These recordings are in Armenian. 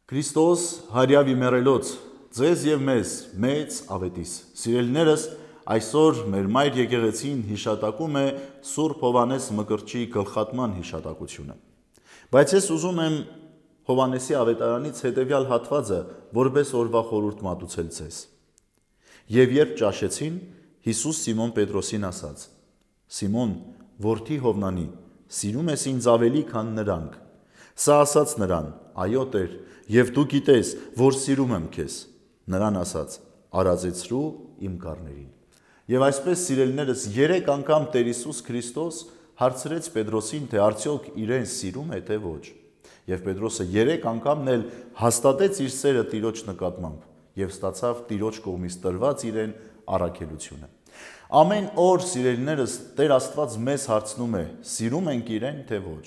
Քրիստոս հարյավ իմերելոց, ձեզ և մեզ, մեծ ավետիս, սիրելիներս, այսօր մեր մայր եկեղեցին հիշատակում է Սուրբ Հովհաննես Մկրտչի գլխատման հիշատակությունը։ Բայց ես ուզում եմ Հովհաննեսի ավետարանից հետևյալ հատվածը որպես օրվա խորհուրդ մատուցել ձեզ։ Եվ երբ ճաշեցին, Հիսուս Սիմոն Պետրոսին ասաց. Սիմոն, որդի Հովնանի, սիրում ես ինձ ավելի, քան նրանք։ Սա ասաց նրան. այո Տեր, և դու գիտես, որ սիրում եմ քեզ։ Նրան ասաց. արածեցրու իմ կառներին։ Եվ այսպես սիրելիներս 3 անգամ Տեր Հիսուս Քրիստոս հարցրեց Պետրոսին, թե արդյոք իրեն սիրում է, թե ոչ։ Եվ Պետրոսը 3 անգամն էլ հաստատեց իր սերը Տիրոջ նկատմամբ և ստացավ Տիրոջ կողմից տրված իրեն առաքելությունը։ Ամեն օր սիրելիներս Տեր Աստված մեզ հարցնում է. սիրում ենք իրեն, թե ոչ։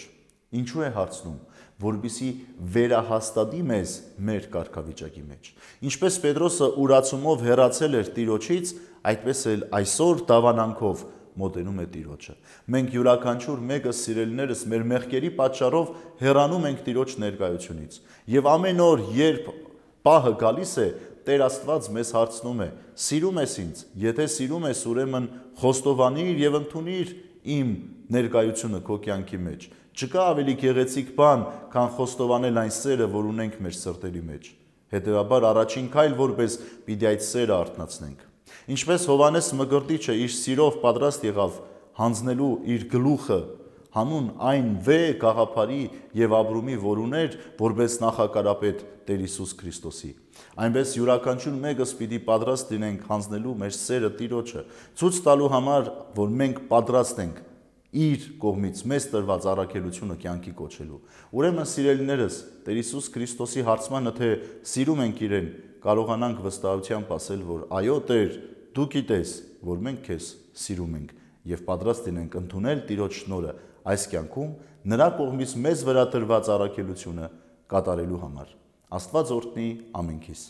Ինչու է հարցնում, որպեսզի վերահաստատի մեզ մեր կարգավիճակի մեջ։ Ինչպես Պետրոսը ուրացումով հեռացել էր Տիրոջից, այդպես էլ այսօր դավանանքով մոտենում է Տիրոջը։ Մենք յուրաքանչյուր մեկը սիրելիներս մեր մեղքերի պատճառով հեռանում ենք Տիրոջ ներկայությունից։ Եվ ամեն օր, երբ պահը գալիս է, Տեր Աստված մեզ հարցնում է. սիրում ես ինձ, եթե սիրում ես, ուրեմն խոստովանիր և ընդունիր իմ ներկայությունը քո կյանքի մեջ։ Չկա ավելի գեղեցիկ բան, քան խոստովանել այն սերը, որ ունենք մեր սրտերի մեջ։ Հետևաբար առաջին քայլ որպես պիտի այդ սերը արթնացնենք։ Ինչպես Հովհաննես Մկրտիչը իր սիրով պատրաստ եղավ հանձնելու իր գլուխը հանուն այն վեհ գաղափարի և ապրումի, որ ուներ որպես նախակարապետ Տեր Հիսուս Քրիստոսի, այնպես յուրաքանչյուր մեկս պիտի պատրաստ լինենք հանձնելու մեր սերը Տիրոջը, ցույց տալու համար, որ մենք պատրաստ ենք իր կողմից մեզ տրված առաքելությունը կյանքի կոչելու։ Ուրեմն սիրելիներս, Տեր Հիսուս Քրիստոսի հարցմանը, թե սիրում ենք իրեն, կարողանանք վստահությամբ ասել, որ այո Տեր, դու գիտես, որ մենք քեզ սիրում ենք և պատրաստ լինենք ընդունել Տիրոջ շնորհը այս կյանքում նրա կողմից մեզ վրա տրված առաքելությունը կատարելու համար։ Աստված օրհնի ամենքիս։